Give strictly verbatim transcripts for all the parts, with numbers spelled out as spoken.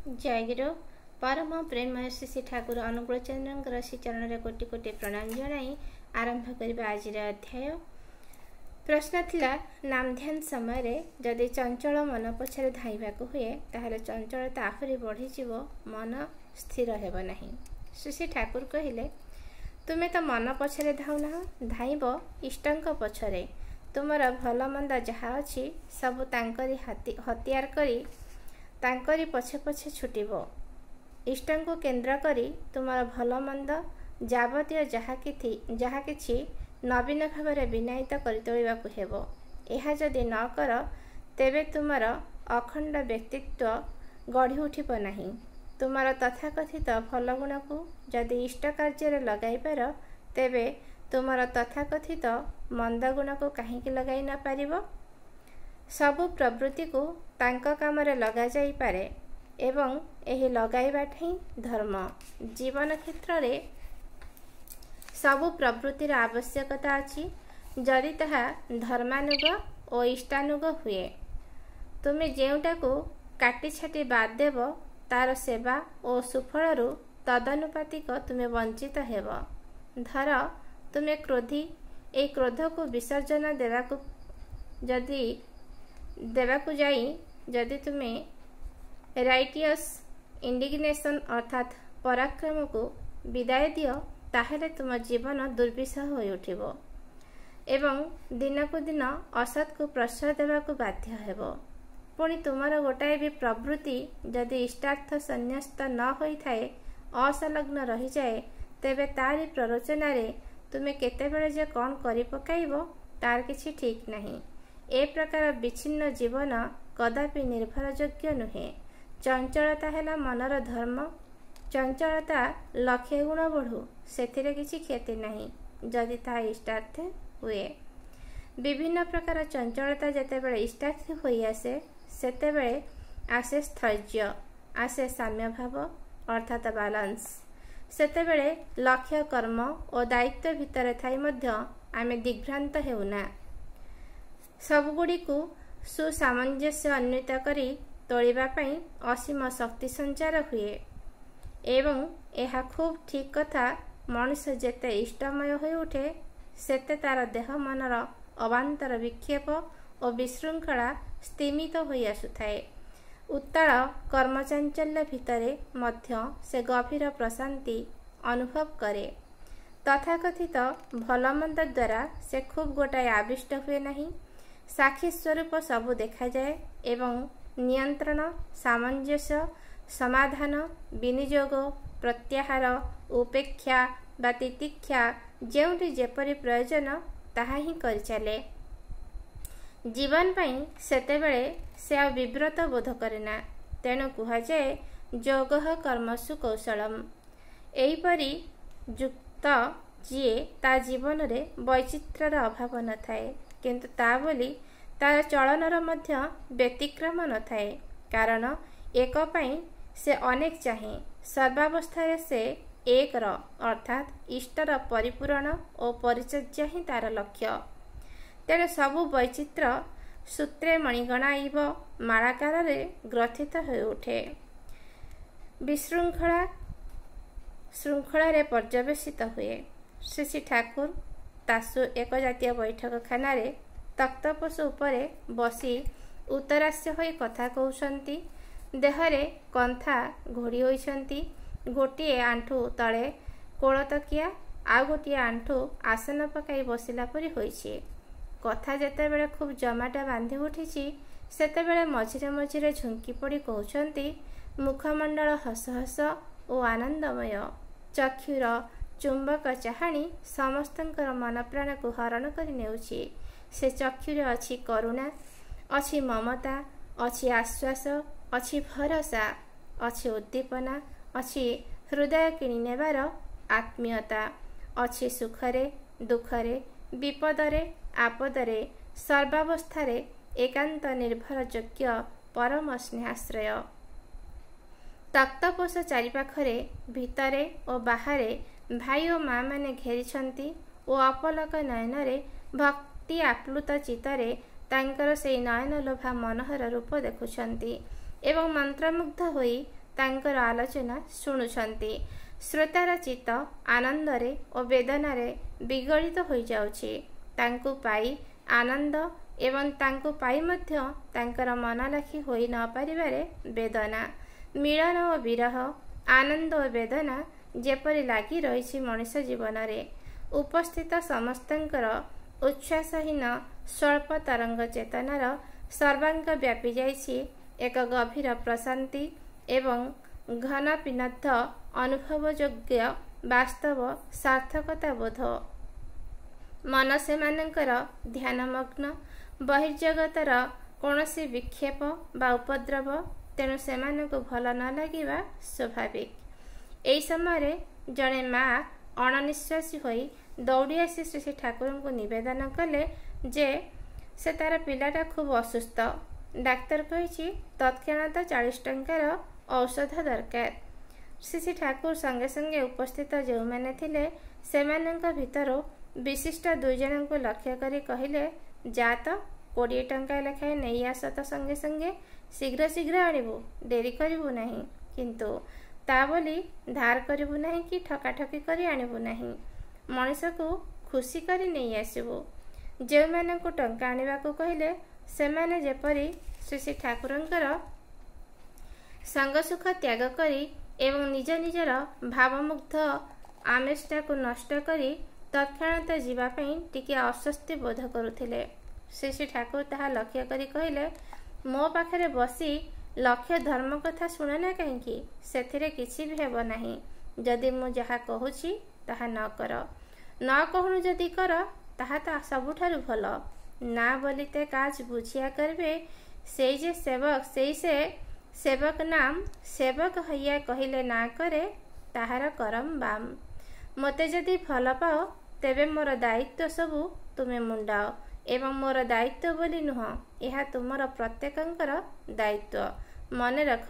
ଜୟଗୁରୁ। ପରମ ପ୍ରେମମୟ ଶ୍ରୀ ଶ୍ରୀ ଠାକୁର ଅନୁକୂଳ ଚନ୍ଦ୍ରଙ୍କର ଶ୍ରୀଚରଣରେ କୋଟି କୋଟି ପ୍ରଣାମ ଜଣାଇ ଆରମ୍ଭ କରିବା ଆଜିର ଅଧ୍ୟାୟ। ପ୍ରଶ୍ନ ଥିଲା, ନାମଧ୍ୟାନ ସମୟରେ ଯଦି ଚଞ୍ଚଳ ମନ ପଛରେ ଧାଇଁବାକୁ ହୁଏ, ତାହେଲେ ଚଞ୍ଚଳତା ଆହୁରି ବଢ଼ିଯିବ, ମନ ସ୍ଥିର ହେବ ନାହିଁ। ଶ୍ରୀ ଶ୍ରୀ ଠାକୁର କହିଲେ, ତୁମେ ତ ମନ ପଛରେ ଧାଉନାହ, ଧାଇଁବ ଇଷ୍ଟଙ୍କ ପଛରେ। ତୁମର ଭଲ ମନ୍ଦ ଯାହା ଅଛି ସବୁ ତାଙ୍କରି ହତିଆର କରି ତାଙ୍କରି ପଛେ ପଛେ ଛୁଟିବ। ଇଷ୍ଟଙ୍କୁ କେନ୍ଦ୍ର କରି ତୁମର ଭଲ ମନ୍ଦ ଯାବତୀୟ ଯାହା କିଛି ଯାହା କିଛି ନବୀନ ଭାବରେ ବିନାୟିତ କରି ତୋଳିବାକୁ ହେବ। ଏହା ଯଦି ନ କର, ତେବେ ତୁମର ଅଖଣ୍ଡ ବ୍ୟକ୍ତିତ୍ୱ ଗଢ଼ି ଉଠିବ ନାହିଁ। ତୁମର ତଥାକଥିତ ଭଲ ଗୁଣକୁ ଯଦି ଇଷ୍ଟ କାର୍ଯ୍ୟରେ ଲଗାଇପାର, ତେବେ ତୁମର ତଥାକଥିତ ମନ୍ଦ ଗୁଣକୁ କାହିଁକି ଲଗାଇ ନ ପାରିବ? ସବୁ ପ୍ରବୃତ୍ତିକୁ ତାଙ୍କ କାମରେ ଲଗାଯାଇପାରେ ଏବଂ ଏହି ଲଗାଇବାଟା ହିଁ ଧର୍ମ। ଜୀବନ କ୍ଷେତ୍ରରେ ସବୁ ପ୍ରବୃତ୍ତିର ଆବଶ୍ୟକତା ଅଛି, ଯଦି ତାହା ଧର୍ମାନୁଗ ଓ ଇଷ୍ଟାନୁଗ ହୁଏ। ତୁମେ ଯେଉଁଟାକୁ କାଟିଛାଟି ବାଦ ଦେବ, ତାର ସେବା ଓ ସୁଫଳରୁ ତଦନୁପାତିକ ତୁମେ ବଞ୍ଚିତ ହେବ। ଧର ତୁମେ କ୍ରୋଧୀ। ଏହି କ୍ରୋଧକୁ ବିସର୍ଜନ ଦେବାକୁ ଯଦି ଦେବାକୁ ଯାଇ ଯଦି ତୁମେ ରାଇଟିୟସ୍ ଇଣ୍ଡିଗ୍ନେସନ୍ ଅର୍ଥାତ୍ ପରାକ୍ରମକୁ ବିଦାୟ ଦିଅ, ତାହେଲେ ତୁମ ଜୀବନ ଦୁର୍ବିସହ ହୋଇଉଠିବ ଏବଂ ଦିନକୁ ଦିନ ଅସତ୍କୁ ପ୍ରଶ୍ରୟ ଦେବାକୁ ବାଧ୍ୟ ହେବ। ପୁଣି ତୁମର ଗୋଟାଏ ବି ପ୍ରବୃତ୍ତି ଯଦି ଇଷ୍ଟାର୍ଥ ସନ୍ନ୍ୟସ୍ତ ନ ହୋଇଥାଏ, ଅସଂଲଗ୍ନ ରହିଯାଏ, ତେବେ ତାରି ପ୍ରରୋଚନାରେ ତୁମେ କେତେବେଳେ ଯେ କ'ଣ କରି ପକାଇବ ତାର କିଛି ଠିକ୍ ନାହିଁ। ଏ ପ୍ରକାର ବିଚ୍ଛିନ୍ନ ଜୀବନ କଦାପି ନିର୍ଭରଯୋଗ୍ୟ ନୁହେଁ। ଚଞ୍ଚଳତା ହେଲା ମନର ଧର୍ମ। ଚଞ୍ଚଳତା ଲକ୍ଷେ ଗୁଣ ବଢ଼ୁ, ସେଥିରେ କିଛି କ୍ଷତି ନାହିଁ, ଯଦି ତାହା ଇଷ୍ଟାର୍ଥେ ହୁଏ। ବିଭିନ୍ନ ପ୍ରକାର ଚଞ୍ଚଳତା ଯେତେବେଳେ ଇଷ୍ଟାର୍ଥେ ହୋଇଆସେ, ସେତେବେଳେ ଆସେ ସ୍ଥୈର୍ଯ୍ୟ, ଆସେ ସାମ୍ୟଭାବ ଅର୍ଥାତ ବାଲାନ୍ସ। ସେତେବେଳେ ଲକ୍ଷ୍ୟ, କର୍ମ ଓ ଦାୟିତ୍ୱ ଭିତରେ ଥାଇ ମଧ୍ୟ ଆମେ ଦିଗ୍ଭ୍ରାନ୍ତ ହେଉନା। ସବୁଗୁଡ଼ିକୁ ସୁସାମଞ୍ଜସ୍ୟ ଅନ୍ୱିତ କରି ତୋଳିବା ପାଇଁ ଅସୀମ ଶକ୍ତି ସଞ୍ଚାର ହୁଏ। ଏବଂ ଏହା ଖୁବ୍ ଠିକ୍ କଥା, ମଣିଷ ଯେତେ ଇଷ୍ଟମୟ ହୋଇଉଠେ, ସେତେ ତାର ଦେହ ମନର ଅବାନ୍ତର ବିକ୍ଷେପ ଓ ବିଶୃଙ୍ଖଳା ସ୍ତିମିତ ହୋଇ ଆସୁଥାଏ। ଉତ୍ତାଳ କର୍ମଚାଞ୍ଚଲ୍ୟ ଭିତରେ ମଧ୍ୟ ସେ ଗଭୀର ପ୍ରଶାନ୍ତି ଅନୁଭବ କରେ। ତଥାକଥିତ ଭଲମନ୍ଦ ଦ୍ୱାରା ସେ ଖୁବ୍ ଗୋଟାଏ ଆବିଷ୍ଟ ହୁଏ ନାହିଁ। ସାକ୍ଷୀ ସ୍ୱରୂପ ସବୁ ଦେଖାଯାଏ ଏବଂ ନିୟନ୍ତ୍ରଣ, ସାମଞ୍ଜସ୍ୟ, ସମାଧାନ, ବିନିଯୋଗ, ପ୍ରତ୍ୟାହାର, ଉପେକ୍ଷା ବା ତିତିକ୍ଷା ଯେଉଁଠି ଯେପରି ପ୍ରୟୋଜନ ତାହା ହିଁ କରିଚାଲେ। ଜୀବନ ପାଇଁ ସେତେବେଳେ ସେ ଆଉ ବିବ୍ରତ ବୋଧ କରେନା। ତେଣୁ କୁହାଯାଏ, ଯୋଗଃ କର୍ମସୁ କୌଶଳମ୍। ଏହିପରି ଯୁକ୍ତ ଯିଏ, ତା ଜୀବନରେ ବୈଚିତ୍ର୍ୟର ଅଭାବ ନଥାଏ, କିନ୍ତୁ ତା ବୋଲି ତାର ଚଳନର ମଧ୍ୟ ବ୍ୟତିକ୍ରମ ନଥାଏ। କାରଣ ଏକ ପାଇଁ ସେ ଅନେକ ଚାହେଁ। ସର୍ବାବସ୍ଥାରେ ସେ ଏକର ଅର୍ଥାତ୍ ଇଷ୍ଟର ପରିପୂରଣ ଓ ପରିଚର୍ଯ୍ୟା ହିଁ ତାର ଲକ୍ଷ୍ୟ। ତେଣୁ ସବୁ ବୈଚିତ୍ର୍ୟ ସୂତ୍ରେ ମଣିଗଣା ଇବ ମାଳାକାରରେ ଗ୍ରଥିତ ହୋଇଉଠେ, ବିଶୃଙ୍ଖଳା ଶୃଙ୍ଖଳାରେ ପର୍ଯ୍ୟବେସିତ ହୁଏ। ଶ୍ରୀ ଶ୍ରୀ ଠାକୁର ତାସୁ ଏକ ଜାତୀୟ ବୈଠକଖାନାରେ ତକ୍ତପୋଷ ଉପରେ ବସି ଉତ୍ତରାସ୍ୟ ହୋଇ କଥା କହୁଛନ୍ତି। ଦେହରେ କନ୍ଥା ଘୋଡ଼ି ହୋଇଛନ୍ତି। ଗୋଟିଏ ଆଣ୍ଠୁ ତଳେ କୋଳତକିଆ, ଆଉ ଗୋଟିଏ ଆଣ୍ଠୁ ଆସନ ପକାଇ ବସିଲା ପରି ହୋଇଛି। କଥା ଯେତେବେଳେ ଖୁବ୍ ଜମାଟ ବାନ୍ଧି ଉଠିଛି, ସେତେବେଳେ ମଝିରେ ମଝିରେ ଝୁଙ୍କି ପଡ଼ି କହୁଛନ୍ତି। ମୁଖମଣ୍ଡଳ ହସ ହସ ଓ ଆନନ୍ଦମୟ। ଚକ୍ଷୁର ଚୁମ୍ବକ ଚାହାଣି ସମସ୍ତଙ୍କର ମନପ୍ରାଣକୁ ହରଣ କରି ନେଉଛି। ସେ ଚକ୍ଷୁରେ ଅଛି କରୁଣା, ଅଛି ମମତା, ଅଛି ଆଶ୍ୱାସ, ଅଛି ଭରସା, ଅଛି ଉଦ୍ଦୀପନା, ଅଛି ହୃଦୟ କିଣି ନେବାର ଆତ୍ମୀୟତା, ଅଛି ସୁଖରେ ଦୁଃଖରେ, ବିପଦରେ ଆପଦରେ, ସର୍ବାବସ୍ଥାରେ ଏକାନ୍ତ ନିର୍ଭରଯୋଗ୍ୟ ପରମ ସ୍ନେହାଶ୍ରୟ। ତକ୍ତପୋଷ ଚାରିପାଖରେ ଭିତରେ ଓ ବାହାରେ ଭାଇ ଓ ମାଆମାନେ ଘେରିଛନ୍ତି ଓ ଅପଲକ ନୟନରେ ଭକ୍ତି ଆପ୍ଲୁତ ଚିତ୍ତରେ ତାଙ୍କର ସେଇ ନୟନଲୋଭା ମନୋହର ରୂପ ଦେଖୁଛନ୍ତି ଏବଂ ମନ୍ତ୍ରମୁଗ୍ଧ ହୋଇ ତାଙ୍କର ଆଲୋଚନା ଶୁଣୁଛନ୍ତି। ଶ୍ରୋତାର ଚିତ୍ତ ଆନନ୍ଦରେ ଓ ବେଦନାରେ ବିଗଳିତ ହୋଇଯାଉଛି। ତାଙ୍କୁ ପାଇ ଆନନ୍ଦ ଏବଂ ତାଙ୍କୁ ପାଇ ମଧ୍ୟ ତାଙ୍କର ମନଲାଖି ହୋଇ ନ ପାରିବାରେ ବେଦନା। ମିଳନ ଓ ବିରହ, ଆନନ୍ଦ ଓ ବେଦନା ଯେପରି ଲାଗି ରହିଛି ମଣିଷ ଜୀବନରେ। ଉପସ୍ଥିତ ସମସ୍ତଙ୍କର ଉଚ୍ଛ୍ୱାସହୀନ ସ୍ୱଳ୍ପ ତରଙ୍ଗ ଚେତନାର ସର୍ବାଙ୍ଗ ବ୍ୟାପି ଯାଇଛି ଏକ ଗଭୀର ପ୍ରଶାନ୍ତି ଏବଂ ଘନ ପିନଦ୍ଧ ଅନୁଭବଯୋଗ୍ୟ ବାସ୍ତବ ସାର୍ଥକତା ବୋଧ। ମନ ସେମାନଙ୍କର ଧ୍ୟାନମଗ୍ନ, ବହିର୍ଜଗତର କୌଣସି ବିକ୍ଷେପ ବା ଉପଦ୍ରବ ତେଣୁ ସେମାନଙ୍କୁ ଭଲ ନ ଲାଗିବା ସ୍ୱାଭାବିକ। ଏହି ସମୟରେ ଜଣେ ମା ଅଣନିଶ୍ୱାସୀ ହୋଇ ଦୌଡ଼ି ଆସି ଶ୍ରୀ ଶ୍ରୀ ଠାକୁରଙ୍କୁ ନିବେଦନ କଲେ ଯେ ସେ ତାର ପିଲାଟା ଖୁବ୍ ଅସୁସ୍ଥ, ଡାକ୍ତର କହିଛି ତତ୍କ୍ଷଣାତ ଚାଳିଶ ଟଙ୍କାର ଔଷଧ ଦରକାର। ଶ୍ରୀ ଶ୍ରୀ ଠାକୁର ସଙ୍ଗେ ସଙ୍ଗେ ଉପସ୍ଥିତ ଯେଉଁମାନେ ଥିଲେ ସେମାନଙ୍କ ଭିତରୁ ବିଶିଷ୍ଟ ଦୁଇ ଜଣଙ୍କୁ ଲକ୍ଷ୍ୟ କରି କହିଲେ, ଯା ତ କୋଡ଼ିଏ ଟଙ୍କା ଲେଖାଏଁ ନେଇ ଆସ ତ ସଙ୍ଗେ ସଙ୍ଗେ, ଶୀଘ୍ର ଶୀଘ୍ର ଆଣିବୁ, ଡେରି କରିବୁ ନାହିଁ, କିନ୍ତୁ ତା ବୋଲି ଧାର କରିବୁ ନାହିଁ କି ଠକାଠକି କରି ଆଣିବୁ ନାହିଁ, ମଣିଷକୁ ଖୁସି କରି ନେଇ ଆସିବୁ। ଯେଉଁମାନଙ୍କୁ ଟଙ୍କା ଆଣିବାକୁ କହିଲେ ସେମାନେ ଯେପରି ଶ୍ରୀ ଶ୍ରୀ ଠାକୁରଙ୍କର ସଙ୍ଗସୁଖ ତ୍ୟାଗ କରି ଏବଂ ନିଜ ନିଜର ଭାବମୁଗ୍ଧ ଆମିଷଟାକୁ ନଷ୍ଟ କରି ତତ୍କ୍ଷଣାତ ଯିବା ପାଇଁ ଟିକିଏ ଅସ୍ୱସ୍ତି ବୋଧ କରୁଥିଲେ। ଶ୍ରୀ ଶ୍ରୀ ଠାକୁର ତାହା ଲକ୍ଷ୍ୟ କରି କହିଲେ, ମୋ ପାଖରେ ବସି ଲକ୍ଷ୍ୟ ଧର୍ମ କଥା ଶୁଣେ ନା କାହିଁକି, ସେଥିରେ କିଛି ବି ହେବ ନାହିଁ ଯଦି ମୁଁ ଯାହା କହୁଛି ତାହା ନ କର। ନ କହୁଣୁ ଯଦି କର ତାହା ତ ସବୁଠାରୁ ଭଲ। ନା ବୋଲିତେ କାଜ ବୁଝିଆ କରିବେ, ସେଇ ଯେ ସେବକ ସେଇ ସେ ସେବକ ନାମ, ସେବକ ହଇଆ କହିଲେ ନା କରେ ତାହାର କରମ ବାମ। ମୋତେ ଯଦି ଭଲ ପାଅ ତେବେ ମୋର ଦାୟିତ୍ୱ ସବୁ ତୁମେ ମୁଣ୍ଡାଅ, ଏବଂ ମୋର ଦାୟିତ୍ୱ ବୋଲି ନୁହଁ, ଏହା ତୁମର ପ୍ରତ୍ୟେକଙ୍କର ଦାୟିତ୍ୱ। ମନେ ରଖ,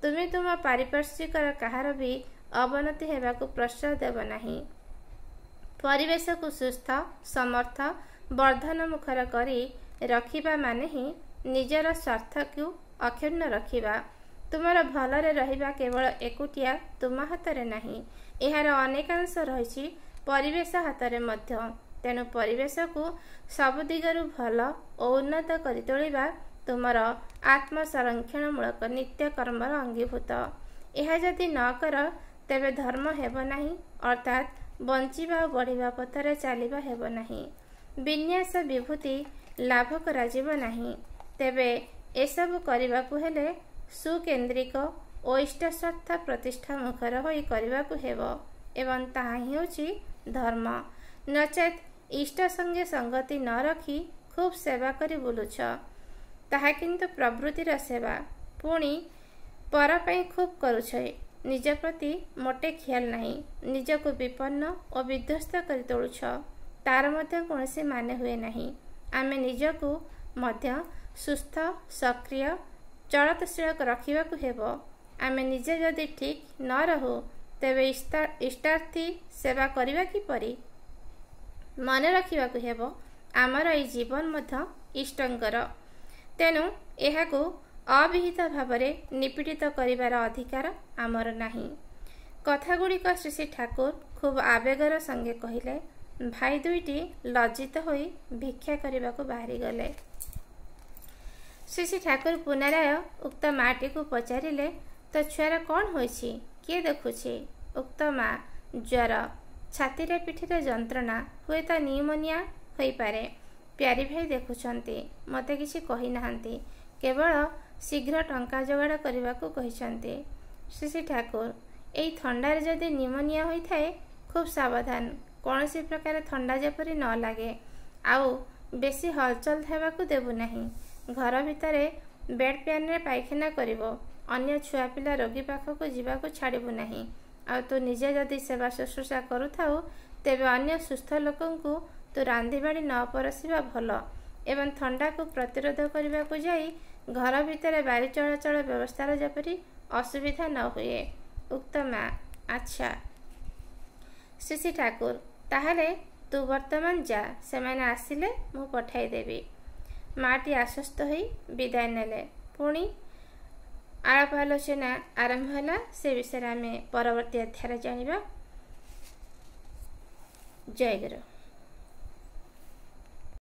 ତୁମେ ତୁମ ପାରିପାର୍ଶ୍ୱିକର କାହାର ବି ଅବନତି ହେବାକୁ ପ୍ରଶ୍ରୟ ଦେବ ନାହିଁ। ପରିବେଶକୁ ସୁସ୍ଥ, ସମର୍ଥ, ବର୍ଦ୍ଧନମୁଖର କରି ରଖିବା ମାନେ ହିଁ ନିଜର ସ୍ୱାର୍ଥକୁ ଅକ୍ଷୁଣ୍ଣ ରଖିବା। ତୁମର ଭଲରେ ରହିବା କେବଳ ଏକୁଟିଆ ତୁମ ହାତରେ ନାହିଁ, ଏହାର ଅନେକାଂଶ ରହିଛି ପରିବେଶ ହାତରେ ମଧ୍ୟ। ତେଣୁ ପରିବେଶକୁ ସବୁ ଦିଗରୁ ଭଲ ଓ ଉନ୍ନତ କରି ତୋଳିବା ତୁମର ଆତ୍ମସଂରକ୍ଷଣମୂଳକ ନିତ୍ୟକର୍ମର ଅଙ୍ଗୀଭୂତ। ଏହା ଯଦି ନ କର ତେବେ ଧର୍ମ ହେବ ନାହିଁ, ଅର୍ଥାତ୍ ବଞ୍ଚିବା ଓ ବଢ଼ିବା ପଥରେ ଚାଲିବା ହେବ ନାହିଁ, ବିନ୍ୟାସ ବିଭୂତି ଲାଭ କରାଯିବ ନାହିଁ। ତେବେ ଏସବୁ କରିବାକୁ ହେଲେ ସୁକେନ୍ଦ୍ରିକ ଓ ଇଷ୍ଟସ୍ୱାର୍ଥ ପ୍ରତିଷ୍ଠା ମୁଖର ହୋଇ କରିବାକୁ ହେବ, ଏବଂ ତାହା ହିଁ ହେଉଛି ଧର୍ମ। ନଚେତ୍ ଇଷ୍ଟ ସଙ୍ଗେ ସଙ୍ଗତି ନ ରଖି ଖୁବ୍ ସେବା କରି ବୁଲୁଛ, ତାହା କିନ୍ତୁ ପ୍ରବୃତ୍ତିର ସେବା। ପୁଣି ପର ପାଇଁ ଖୁବ୍ କରୁଛ, ନିଜ ପ୍ରତି ମୋଟେ ଖିଆଲ ନାହିଁ, ନିଜକୁ ବିପନ୍ନ ଓ ବିଧ୍ୱସ୍ତ କରି ତୋଳୁଛ, ତାର ମଧ୍ୟ କୌଣସି ମାନେ ହୁଏ ନାହିଁ। ଆମେ ନିଜକୁ ମଧ୍ୟ ସୁସ୍ଥ, ସକ୍ରିୟ, ଚଳତଶୀଳ ରଖିବାକୁ ହେବ। ଆମେ ନିଜେ ଯଦି ଠିକ୍ ନ ରହୁ ତେବେ ଇଷ୍ଟାର୍ଥୀ ସେବା କରିବା କିପରି? ମନେ ରଖିବାକୁ ହେବ ଆମର ଏଇ ଜୀବନ ମଧ୍ୟ ଇଷ୍ଟଙ୍କର, ତେଣୁ ଏହାକୁ ଅବିହିତ ଭାବରେ ନିପୀଡ଼ିତ କରିବାର ଅଧିକାର ଆମର ନାହିଁ। କଥାଗୁଡ଼ିକ ଶ୍ରୀ ଶ୍ରୀ ଠାକୁର ଖୁବ୍ ଆବେଗର ସଙ୍ଗେ କହିଲେ। ଭାଇ ଦୁଇଟି ଲଜ୍ଜିତ ହୋଇ ଭିକ୍ଷା କରିବାକୁ ବାହାରିଗଲେ। ଶ୍ରୀ ଶ୍ରୀ ଠାକୁର ପୁନରାୟ ଉକ୍ତ ମାଟିକୁ ପଚାରିଲେ, ତୋ ଛୁଆର କ'ଣ ହୋଇଛି, କିଏ ଦେଖୁଛି? ଉକ୍ତ ମା, ଜ୍ୱର, ଛାତିରେ ପିଠିରେ ଯନ୍ତ୍ରଣା, ହୁଏତ ନିଉମୋନିଆ ହୋଇପାରେ। ପ୍ୟାରୀ ଭାଇ ଦେଖୁଛନ୍ତି, ମୋତେ କିଛି କହିନାହାନ୍ତି, କେବଳ ଶୀଘ୍ର ଟଙ୍କା ଯୋଗାଡ଼ କରିବାକୁ କହିଛନ୍ତି। ଶ୍ରୀ ଶ୍ରୀ ଠାକୁର, ଏଇ ଥଣ୍ଡାରେ ଯଦି ନିମୋନିଆ ହୋଇଥାଏ ଖୁବ୍ ସାବଧାନ, କୌଣସି ପ୍ରକାର ଥଣ୍ଡା ଯେପରି ନ ଲାଗେ, ଆଉ ବେଶୀ ହଲଚଲ ହେବାକୁ ଦେବୁ ନାହିଁ। ଘର ଭିତରେ ବେଡ୍ ପ୍ୟାନରେ ପାଇଖାନା କରିବ, ଅନ୍ୟ ଛୁଆ ପିଲା ରୋଗୀ ପାଖକୁ ଯିବାକୁ ଛାଡ଼ିବୁ ନାହିଁ। ଆଉ ତୁ ନିଜେ ଯଦି ସେବା ଶୁଶ୍ରୂଷା କରୁଥାଉ ତେବେ ଅନ୍ୟ ସୁସ୍ଥ ଲୋକଙ୍କୁ ତୁ ରାନ୍ଧିବାଢ଼ି ନ ପରସିବା ଭଲ, ଏବଂ ଥଣ୍ଡାକୁ ପ୍ରତିରୋଧ କରିବାକୁ ଯାଇ ଘର ଭିତରେ ବାୟୁ ଚଳାଚଳ ବ୍ୟବସ୍ଥାର ଯେପରି ଅସୁବିଧା ନ ହୁଏ। ଉକ୍ତ ମା, ଆଚ୍ଛା। ଶ୍ରୀ ଶ୍ରୀ ଠାକୁର, ତାହେଲେ ତୁ ବର୍ତ୍ତମାନ ଯା, ସେମାନେ ଆସିଲେ ମୁଁ ପଠାଇଦେବି। ମାଟି ଆଶ୍ୱସ୍ତ ହୋଇ ବିଦାୟ ନେଲେ। ପୁଣି ଆଳାପ ଆଲୋଚନା ଆରମ୍ଭ ହେଲା, ସେ ବିଷୟରେ ଆମେ ପରବର୍ତ୍ତୀ ଅଧ୍ୟାୟରେ ଜାଣିବା। ଜୟ ଗୁରୁ।